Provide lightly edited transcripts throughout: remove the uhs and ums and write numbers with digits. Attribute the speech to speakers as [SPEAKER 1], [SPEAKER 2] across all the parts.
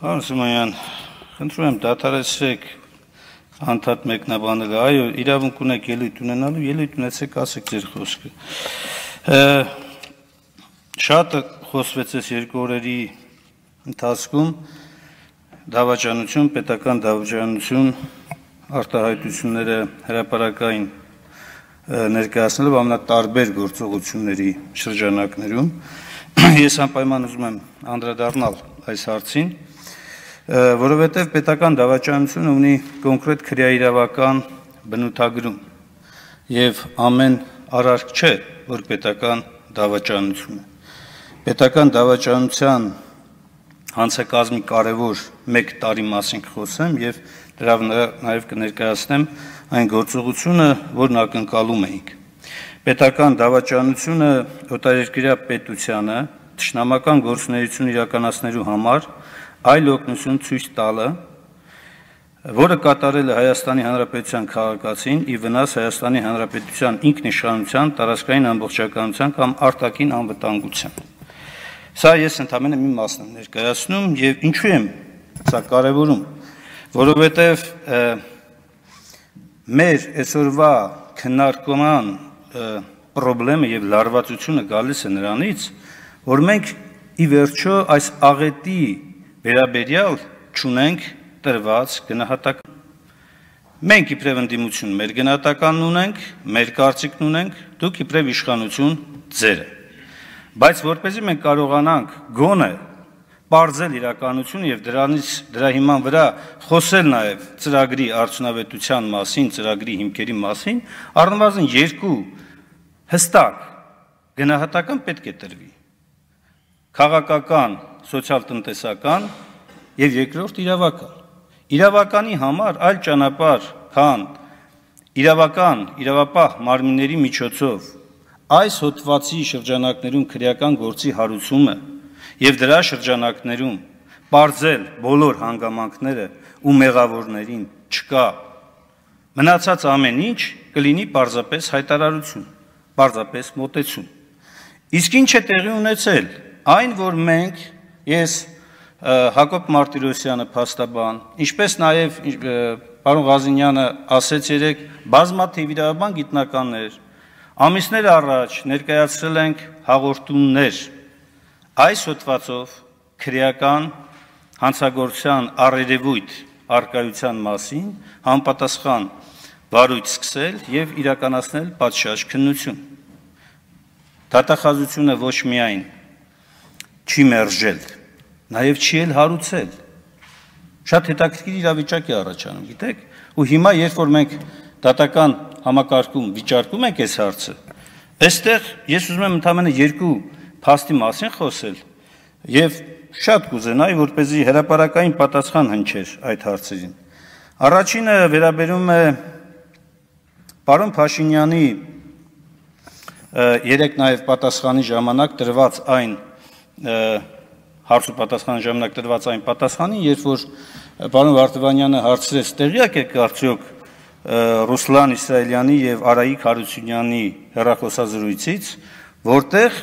[SPEAKER 1] Պարոն Սիմոնյան, խնդրում եմ դադարեցրեք անդադ մեկնաբանել, այո, իրավունք ունեք ելույթ ունենալու, ելույթ ունեցեք, ասեք ձեր խոսքը։ Շատ խոսվեց այս երկու օրերի ընթացքում դավաճանություն, պետական դավաճանություն արտահայտությունները հրապարակային ներկայացնելով ամենատարբեր գործողությունների շրջանակներում, ես անպայման ուզում եմ անդրադառնալ այս հարցին, որովհետև պետական դավաճանությունը ունի կոնկրետ քրեաիրավական բնութագրում եւ ամեն արարք չէ, որ պետական դավաճանություն է։ Պետական դավաճանության հանցակազմի կարևոր մեկ տարի մասին կխոսեմ եւ դրա նաեւ կներկայացնեմ այն գործողությունը, որն ակնկալում էինք։ Պետական դավաճանությունը օտարերկրյա պետությանը թշնամական գործունեություն իրականացնելու համար այլ օգնություն ցույց տալը, որը կատարել է Հայաստանի Հանրապետության քաղաքացին ի վնաս Հայաստանի Հանրապետության ինքնիշխանության, տարածքային ամբողջականության կամ արտաքին անվտանգության։ Սա ես ընդամենը մի մասն եմ ներկայացնում եւ ինչու եմ սա կարեւորում, որովհետեւ մեր այսօրվա քննարկման խնդրը եւ լարվածությունը գալիս է նրանից, որ մենք ի վերջո այս աղետի վերաբերյալ չունենք տրված գնահատական։ Մենք իբրև ընդդիմություն մեր գնահատականն ունենք, մեր կարծիքն ունենք, դուք իբրև իշխանություն ձերը։ Բայց որպեսզի մենք կարողանանք գոնե բարձել իրականություն եւ դրա հիման վրա խոսել նաեւ ծրագրի արդյունավետության մասին, ծրագրի հիմքերի մասին, առնվազն երկու հստակ գնահատական պետք է տրվի։ Քաղաքական, սոցիալ-տնտեսական եւ երկրորդ իրավական։ Իրավականի համար այլ ճանապարհ, քան իրավապահ մարմինների միջոցով այս հոդվածի շրջանակներում քրեական գործի հարուցումը եւ դրա շրջանակներում բարձել բոլոր հանգամանքները ու մեղավորներին չկա։ Մնացած ամեն ինչ կլինի պարզապես հայտարարություն, պարզապես մոտեցում։ Իսկ ինչ է տեղի ունեցել, այն որ մենք, ես Հակոբ Մարտիրոսյանը փաստաբան, ինչպես նաև պարոն Ղազինյանը ասեց երեք, բազմաթիվ իրավաբան գիտնականներ, ամիսներ առաջ ներկայացրել ենք հաղորդումներ այս հոդվածով քրեական հանցագործության առերևույթ արկայության մասին համապատասխան վարույթ սկսել եւ իրականացնել պատշաճ քննություն։ Դատախազությունը ոչ միայն չի մերժել, նաև չի էլ հարուցել։ Շատ հետաքրքիր իրավիճակ է առաջանում, գիտեք, ու հիմա երբ որ մենք դատական համակարգում վիճարկում ենք այս հարցը, այստեղ ես ուզում եմ ընդամենը երկու փաստի մասին խոսել եւ շատ կուզենայի, որպեսզի հրապարակային պատասխան հնչեր այդ հարցերին։ Առաջինը վերաբերում է պարոն Փաշինյանի երեք նաև պատասխանի ժամանակ տրված այն հարց ու պատասխանի ժամանակ տրված այն պատասխանին, երբ որ պարոն Վարդանյանը հարցրեց, տեղյակ եք արդյոք Ռուսլան Իսրայելյանի եւ Արայիկ Հարությունյանի հեռախոսազրույցից, որտեղ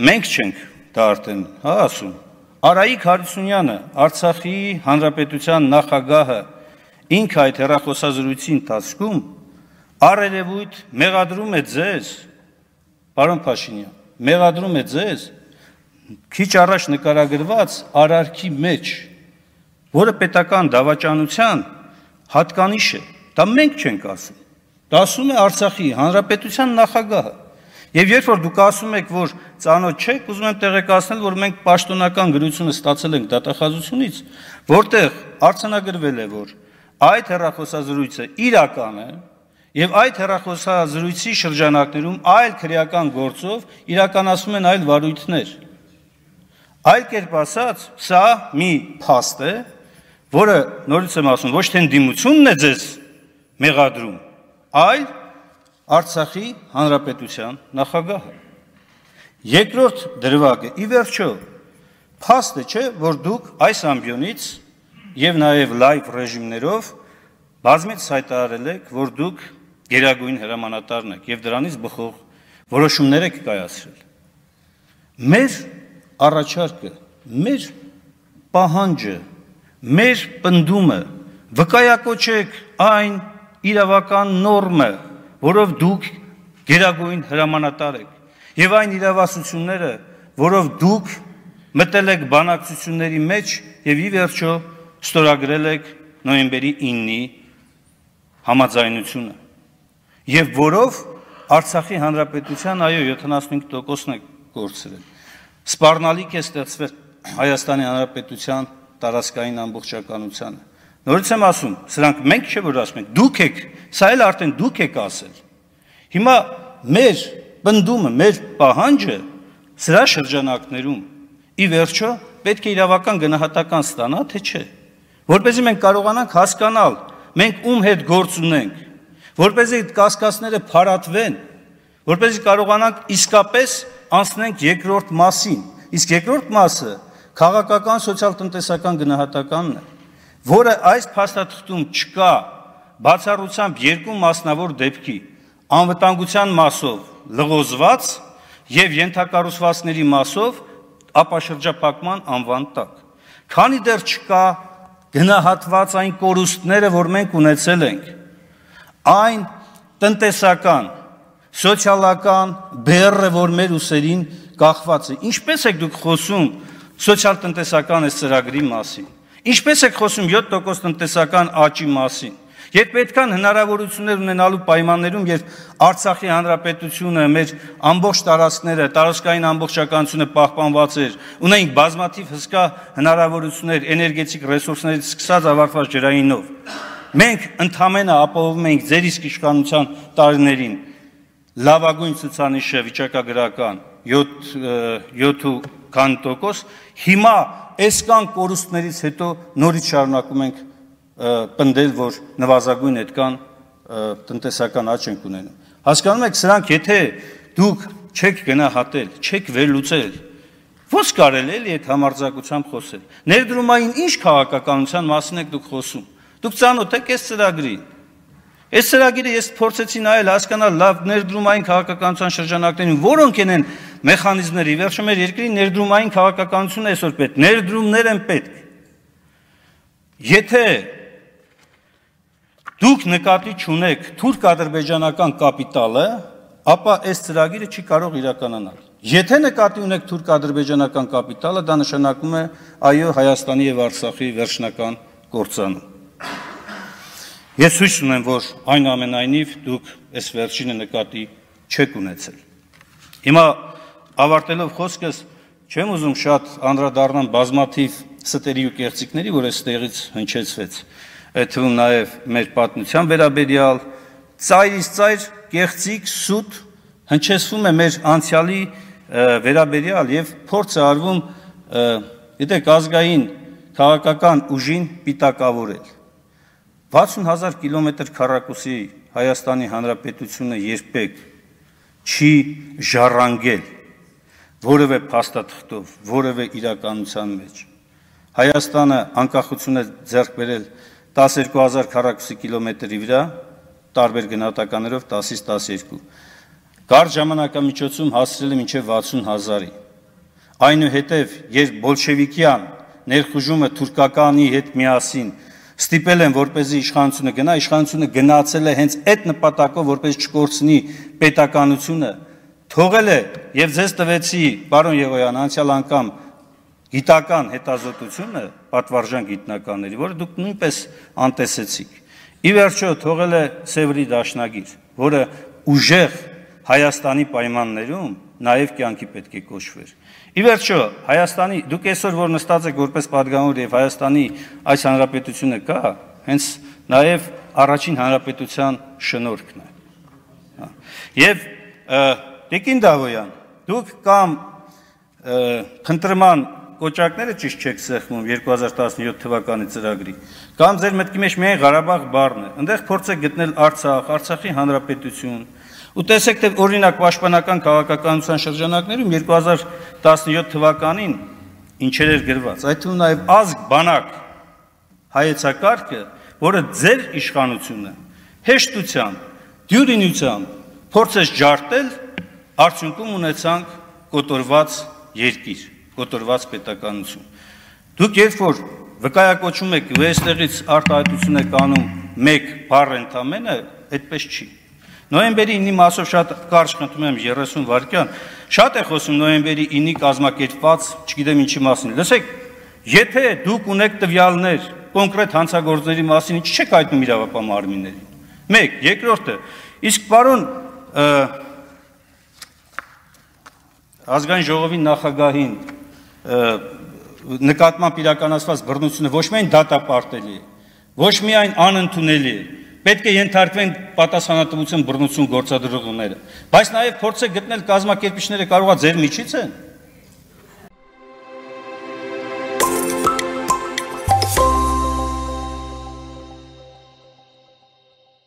[SPEAKER 1] մենք չենք դա արդեն, ասում, Արայիկ Հարությունյանը, Արցախի Հանրապետության նախագահը, ինքը այդ հեռախոսազրույցի ընթացքում առերևույթ մեղադրում է ձեզ, պարոն Փաշինյան, մեղադրում է ձեզ քիչ առաջ նկարագրված արարքի մեջ, որը պետական դավաճանության հատկանիշ է, դա մենք չենք ասում, դա ասում է Արցախի Հանրապետության նախագահը, եւ երբ որ դուք ասում եք, որ ծանոթ չեք, ուզում եմ տեղեկացնել, որ մենք պաշտոնական գրությունը ստացել ենք դատախազությունից, որտեղ արձանագրվել է, որ այդ հեռախոսազրույցը իրական է, եւ այդ հեռախոսազրույցի շրջանակներում այլ քրեական գործով իրականացվում են այլ վարույթներ։ Այլ կերպ ասած, սա մի փաստ է, որը նորից եմ ասում, ոչ թե ընդդիմությունն է ձեզ մեղադրում, այլ Արցախի Հանրապետության նախագահը։ Երկրորդ դրվագը, ի վերջո, փաստ է, չէ, որ դուք այս ամբիոնից եւ նաեւ լայվ ռեժիմներով բազմից հայտարարել եք, որ դուք գերագույն հրամանատարն եք եւ դրանից բխող որոշումներ եք կայացրել։ Մեր առաջարկը, մեր պահանջը, մեր պնդումը վկայակոչեք այն իրավական նորմը, որով դուք գերագույն հրամանատար եք, եւ այն իրավասությունները, որով դուք մտել եք բանակցությունների մեջ եւ ի վերջո ստորագրել եք նոյեմբերի 9-ի համաձայնությունը, եւ որով Արցախի հանրապետության այո 75%-ն է կորցրել։ Սպառնալիք է ստեղծվել Հայաստանի հանրապետության տարածքային ամբողջականությանը։ Նորից եմ ասում, սրանք մենք չէ որ ասում ենք, դուք եք, սա էլ արդեն դուք եք ասել։ Հիմա մեր պնդումը, մեր պահանջը սրա շրջանակներում ի վերջո պետք է իրավական գնահատական ստանա, թե չէ, որպեսզի մենք կարողանանք հասկանալ, մենք ում հետ գործ ունենք, որպեսզի այդ կասկածները փարատվեն, որպեսզի կարողանանք իսկապես անցնենք երկրորդ մասին, իսկ երկրորդ մասը քաղաքական սոցիալ-տնտեսական գնահատականն է, որը այս փաստաթղթում չկա բացառությամբ երկու մասնավոր դեպքի, անվտանգության մասով լղոզված եւ ենթակառուցվածքների մասով ապաշրջափակման անվան տակ։ Քանի դեռ չկա գնահատված այն կորուստները, որ մենք ունեցել ենք, այն տնտեսական, սոցիալական բեռը, որ մեր ուսերին կախված է, ինչպես եք դուք խոսում սոցիալ-տնտեսական այս ծրագրի մասին, ինչպես եք խոսում 7% տնտեսական աճի մասին, երբ պետքան հնարավորություններ ունենալու պայմաններում, երբ Արցախի հանրապետությունը, մեր ամբողջ տարածքները, տարածքային ամբողջականությունը պահպանված էր, ունենք բազմաթիվ հսկա հնարավորություններ էներգետիկ ռեսուրսներից սկսած ավարտված ջրայինով, մենք ընդհանրապես ապահովում ենք ձեր իսկ իշխանության տարիներին լավագույն ցուցանիշը վիճակագրական 7%, հիմա այսքան կորուստներից հետո նորից շարունակում ենք պնդել, որ նվազագույն այդքան տնտեսական աճ ենք ունենում։ Հասկանում եք, սրանք եթե դուք չեք գնահատել, չեք վերլուծել, ո՞նց կարելի է այդ համարձակությամբ խոսել։ Ներդրումային ինչ քաղաքականության մասին եք դուք խոսում։ Դուք ծանոթ եք այս ծրագրին։ Այս ծրագիրը ես փորձեցի նայել, հասկանալ լավ ներդրումային քաղաքականության շրջանակներին որոնք են մեխանիզմները, ի վերջո մեր երկրի ներդրումային քաղաքականությունը այսօր պետք, ներդրումներ են պետք։ Եթե դուք նկատի չունեք թուրք-ադրբեջանական կապիտալը, ապա այս ծրագիրը չի կարող իրականանալ։ Եթե նկատի ունեք թուրք-ադրբեջանական կապիտալը, դա նշանակում է այո Հայաստանի եւ Արցախի վերջնական կործանում։ Ես հույս ունեմ, որ այնուամենայնիվ դուք այս վերջինը նկատի չեք ունեցել։ Հիմա ավարտելով խոսքս, չեմ ուզում շատ անդրադառնամ բազմաթիվ ստերի ու կեղծիքների, որ այստեղից հնչեցվեց, այդ թվում նաև մեր պատմության վերաբերյալ, ծայրից ծայր կեղծիք, սուտ հնչեցվում է մեր անցյալի վերաբերյալ եւ փորձ է արվում, գիտեք, ազգային քաղաքական ուժին պիտակավորել։ 60,000 կիլոմետր քառակուսի Հայաստանի Հանրապետությունը երբեք չի ժառանգել որևէ փաստաթղթով, որևէ իրականության մեջ։ Հայաստանը անկախություն է ձեռք բերել 12,000 քառակուսի կիլոմետրի վրա, տարբեր գնահատականներով 10-ից 12։ Կարճ ժամանակամիջոցում հասցրել է մինչև 60,000-ի։ Այնուհետև, երբ բոլշևիկյան ներխուժումը թուրքականի հետ միասին ստիպել են, որպեսզի իշխանությունը գնա, իշխանությունը գնացել է հենց այդ նպատակով, որպես չկորցնի պետականությունը, թողել է եւ ձեզ տվեցի, պարոն Եղոյան, անցյալ անգամ գիտական հետազոտությունը, պատվարժան գիտնականների, որը դուք նույնպես անտեսեցիք։ Ի վերջո թողել է Սևրի դաշնագիր, որը ուժեղ Հայաստանի պայմաններում նաև կյանքի պետք է կոչվեր։ Ի վերջո Հայաստանի, դուք այսօր որ նստած եք որպես պատգամավոր եւ Հայաստանի այս հանրապետությունը կա, հենց նաև առաջին հանրապետության շնորհքն է։ Եվ Տիկին Դավոյան, դուք կամ փնտրման կոճակները ճիշտ չեք սեղմում 2017 թվականի ծրագրի, կամ ձեր մտքի մեջ միայն Ղարաբաղ բառն է, այնտեղ փորձեք գտնել Արցախ, Արցախի հանրապետություն, ու տեսեք, թե օրինակ պաշտպանական քաղաքականության շրջանակներում 2017 թվականին ինչեր էր գրված, այդ թվում նաև ազգ բանակ հայեցակարգը, որը ձեր իշխանությունը հեշտությամբ, դյուրինությամբ փորձեց ջարդել, արդյունքում ունեցանք կոտորված երկիր, կոտորված պետականություն։ Դուք երբ որ վկայակոչում եք ու այստեղից արտահայտություն եք անում մեկ բառ ընդամենը, այդպես չի։ Նոյեմբերի 9-ի մասով շատ կարճ խնդրում եմ 30 վայրկյան, շատ է խոսում նոյեմբերի 9-ի կազմակերպված, չգիտեմ ինչի մասին։ Լսեք, եթե դուք ունեք տվյալներ կոնկրետ հանցագործների մասին, ինչ չեք հայտնում իրավապահ մարմիններին։ Մեկ, երկրորդը, իսկ պարոն ազգային ժողովի նախագահին նկատմամբ իրականացված բռնությունը ոչ միայն դատապարտելի է, ոչ միայն անընդունելի է, պետք է ենթարկվեն պատասխանատվություն բռնություն գործադրողները, բայց նաև փորձեք գտնել կազմակերպիչները կարողա ձեր միջից են։